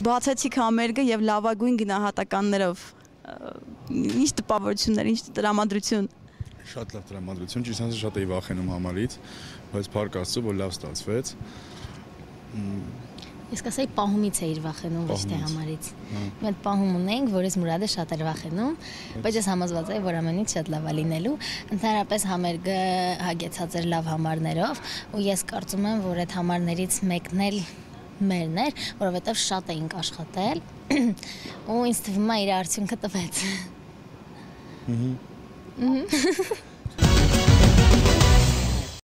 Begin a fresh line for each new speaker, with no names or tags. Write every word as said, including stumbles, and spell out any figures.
Բացեցիք համերգը եւ լավագույն գնահատականներով ինչ տպավորություններ, ինչ տրամադրություն։
Շատ լավ տրամադրություն, ճիշտ ասած շատ էի վախենում համարից, բայց փառք Աստծո, որ լավ ստացվեց։
Ես կասեի պահումից էիր վախենում, ոչ թե համարից։ Մենք պահում ունենք, որ ես Մուրադը շատ էր վախենում, բայց ես համոզված էի, որ ամենից շատ լավ է լինելու։ Ընդհանրապես համերգը հագեցած էր լավ համարներով, ու ես կարծում եմ, որ այդ համարներից մեկն էլ մերն էր, որովհետև շատ էինք աշխատել, ու ինձ թվում է իր արդյունքը տվեց։